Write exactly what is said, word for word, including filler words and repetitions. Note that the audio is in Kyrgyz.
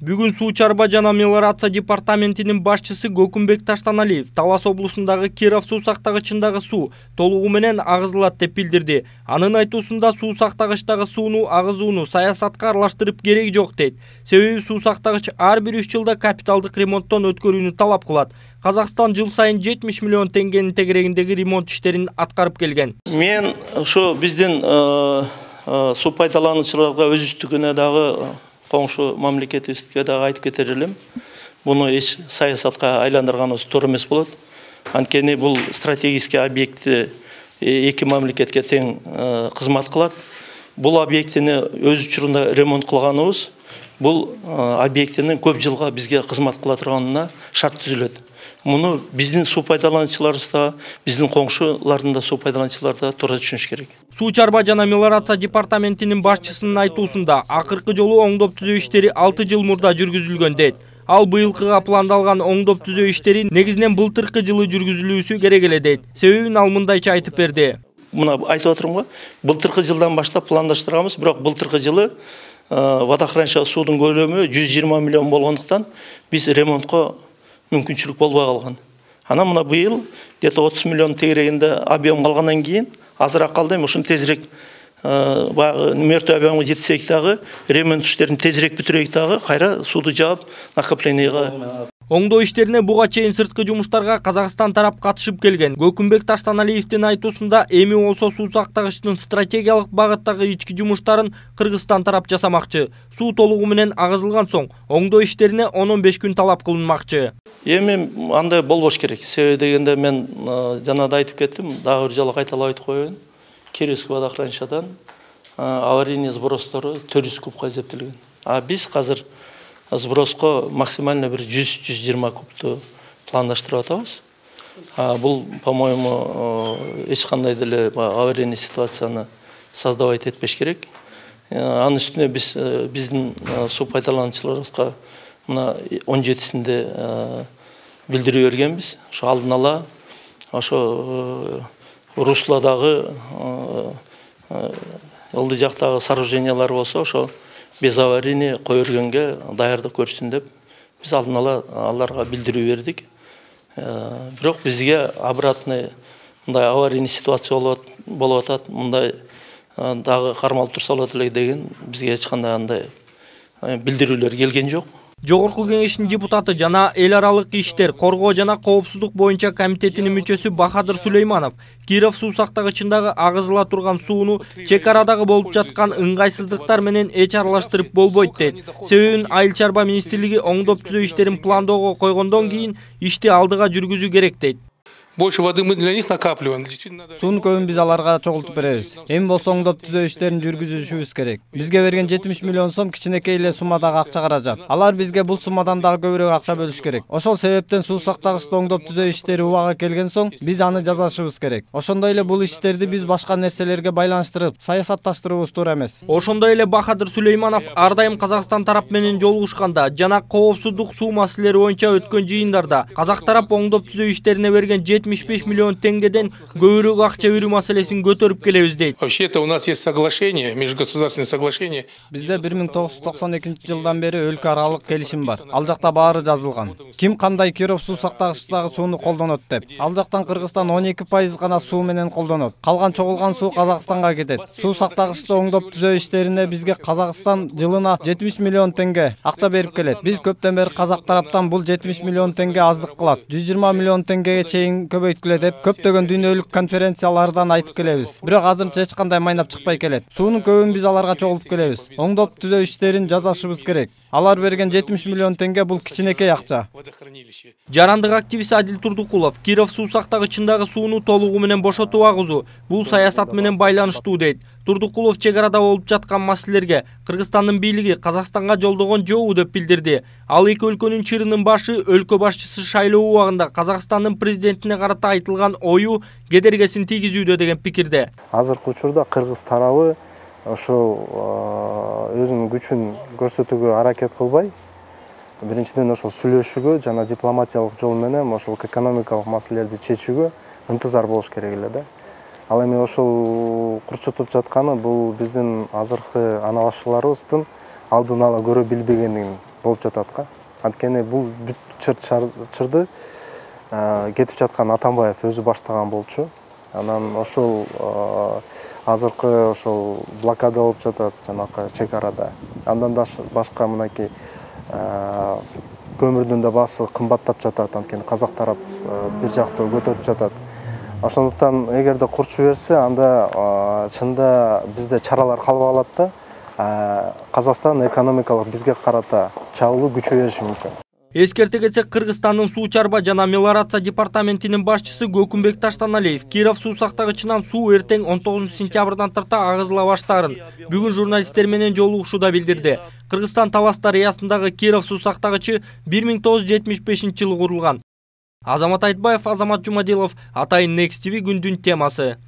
Бүгүн Суу чарба жана мелиорация департаментинин башчысы Көкүмбек Таштаналиев Талас облусундагы Киров суу сактагычындагы суу толугу менен агызылат деп билдирди. Анын айтуусунда суу сактагычтагы сууну агызууну саясатка аралаштырып кереги жок дейт. Себеби суу сактагыч ар бир үч жылда капиталдык ремонттон өткөрүүнү талап кылат. Казакстан жыл сайын жетимиш миллион теңгенин тегерегиндеги ремонт иштерин аткарып келген. Мен ошо биздин суу пайдалануучуларга өзүбүздүкүнө дагы коңшу мамлекетибизге дагы айтып кетер элем. Буну эч саясатка айландырганыбыз туура эмес болот. Анткени бул стратегический объекти эки мамлекетке тең кызмат кылат. Бул объектини өз учурунда ремонт кылганыбыз бул объектинин көп жылга бизге кызмат кыла турганына шарт түзүлөт. Муну биздин суу пайдалануучуларыбыз да, биздин коңшулардын да суу пайдалануучулары да туура түшүнүш керек. Суу чарба жана мелиорация департаментинин башчысынын айтуусунда акыркы жолу оңдоп түзөө иштери алты жыл мурда жүргүзүлгөн дейт. Ал быйылкыга пландалган оңдоп түзөө иштери негизинен былтыркы жылы жүргүзүлүүсү керек эле дейт. Себебин ал мындайча айтып берди. Мына айтып атырмын го, былтыркы жылдан баштап пландаштырганбыз, бирок былтыркы жылы водохранилища суудун көлөмү жүз жыйырма миллион болгондуктан биз ремонтко мүмкүнчүлүк болбой калган. Ана мына быйыл где-то отуз миллион тегерегинде объем калгандан кийин азыраак калды, эми ушуну тезирээк баягы мертвый объемго жетсек дагы, ремонт иштерин тезирээк бүтүрөйүк дагы, кайра сууду жаап накоплениеге. Оңдоо иштерине буга чейин сырткы жумуштарга Казакстан тарап катышып келген. Көкүмбек Таштаналиевдин айтуусунда эми болсо суу сактагычтын стратегиялык багыттагы ички жумуштарын Кыргызстан тарап жасамакчы. Суу толугу менен агызылган соң оңдоо иштерине он он беш күн талап кылынмакчы. Эми андай болбош керек. Себеби дегенде мен жана да айтып кеттим, дагы бир жолу кайталап айтып коеюн. Кировский водохранилищадан аварийный сбростору төрт жүз кубка эсептелген. А биз азыр сброско максимально бир жүз жүз жыйырма кубту пландаштырып атабыз. Бул, по-моему, эч кандай деле аварийный ситуацияны создавать этпеш керек. Анын үстүнө биз биздин суу пайдалануучуларыбызга мына он жетисинде билдирүү бергенбиз. Ошо алдын ала ошо русладагы ылдый жактагы сооружениялар болсо ошо без аварийный кое бергенге даярдык көрсүн деп биз алдын ала аларга билдирүү бердик. Бирок бизге обратный мындай аварийный ситуация болуп атат, мындай дагы кармалып турса болот эле деген бизге эч кандай андай билдирүүлөр келген жок. Жогорку кеңештин депутаты жана эл аралык иштер, коргоо жана коопсуздук боюнча комитетинин мүчөсү Бахадыр Сулейманов Киров суу сактагычындагы агызыла турган сууну чек арадагы болуп жаткан ыңгайсыздыктар менен эч аралаштырып болбойт дейт. Себебин Айыл чарба министрлиги оңдоп түзөө иштерин пландоого койгондон кийин ишти алдыга жүргүзүү керек дейт. Больше воды мы для них накапливаем. Суунун көбүн биз аларга чогултуп беребиз. Эми болсо оңдоп түзөө иштерин жүргүзүшүбүз керек. Бизге берген жетимиш миллион сом кичинекей эле суммадагы акча каражат. Алар бизге бул суммадан дагы көбүрөөк акча бөлүш керек. Ошол себептен суу сактагычты оңдоп түзөө иштери убага келген соң биз аны жасашыбыз керек. Ошондой эле бул иштерди биз башка нерселерге байланыштырып, саясатташтыруубуз туура эмес. Ошондой эле Бахадыр Сулейманов ар дайым Казакстан тарап менен жолугушканда жана коопсуздук суу маселелери боюнча өткөн жыйындарда казак тарап оңдоп түзөө иштерине берген жетимиш беш миллион теңгеден көбүрөөк акча берүү маселесин көтөрүп келебиз дейт. Вообще-то у нас есть соглашение, межгосударственное соглашение. Бизде бир миң тогуз жүз токсон экинчи жылдан бери өлкө аралык келишим бар. Ал жакта баары жазылган. Ким кандай Киров суу сактагычтагы сууну колдонот деп. Ал жактан Кыргызстан он эки пайыз гана суу менен колдонот. Калган чогулган суу Казакстанга кетет. Суу сактагычты оңдоп түзөө иштерине бизге Казакстан жылына жетимиш миллион теңге акча берип келет. Биз көптөн бери казак тараптан бул жетимиш миллион теңге аздык кылат. жүз жыйырма миллион теңгеге чейин көбөйткүлө деп көптөгөн дүйнөлүк конференциялардан айтып келебиз. Бирок азырынча эч кандай майнап чыкпай келет. Суунун көбүн биз аларга чогулуп келебиз. Оңдоп түзөө иштерин жасашыбыз керек. Алар берген жетимиш миллион теңге бул кичинекей акча. Жарандык активист Адил Турдукулов Киров суу сактагычындагы сууну толугу менен бошотуп агызуу бул саясат менен байланыштуу дейт. Турдукулов чек арада болуп жаткан маселелерге Кыргызстандын бийлиги Казакстанга жолдогон жобу деп билдирди. Ал эки өлкөнүн чырынын башы өлкө башчысы шайлоо убагында Казакстандын президентине карата айтылган ою кедергесин тийгизүүдө деген пикирде. Азыркы учурда Кыргыз тарабы ошол өзүнүн күчүн көрсөтүүгө аракет кылбай, биринчиден ошол сүйлөшүүгө жана дипломатиялык жол менен ошол экономикалык маселелерди чечүүгө ынтызар болуш керек эле да. Ал эми ошол курчутуп жатканы бул биздин азыркы ана башчыларыбыздын алдын ала көрө билбегендигин болуп жатат го. Анткени бул бүт чыр-чырды кетип жаткан Атамбаев өзү баштаган болчу. Анан ошол азыркы ошол блокада болуп жатат жанакы чек арада. Андан да башка мынакей көмүрдүн да баасы кымбаттап жатат, анткени казак тарап бир жактуу көтөрүп жатат. Ошондуктан эгерде курчу берсе, анда чында бизде чаралар калбай калат да, Казакстан экономикалык бизге карата чабуулу күчөй бериши мүмкүн. Эскерте кетсек, Кыргызстандын суу чарба жана мелиорация департаментинин башчысы Гөкүмбек Таштаналиев Киров суу сактагычынан суу эртең он тогузунчу сентябрдан тарта агызыла баштаарын бүгүн журналисттер менен жолугушууда билдирди. Кыргызстан Талас дарыясындагы Киров суу сактагычы бир миң тогуз жүз жетимиш бешинчи жылы курулган. Азамат Айтбаев, Азамат Жумадилов, Атайын Next ти ви күндүн темасы.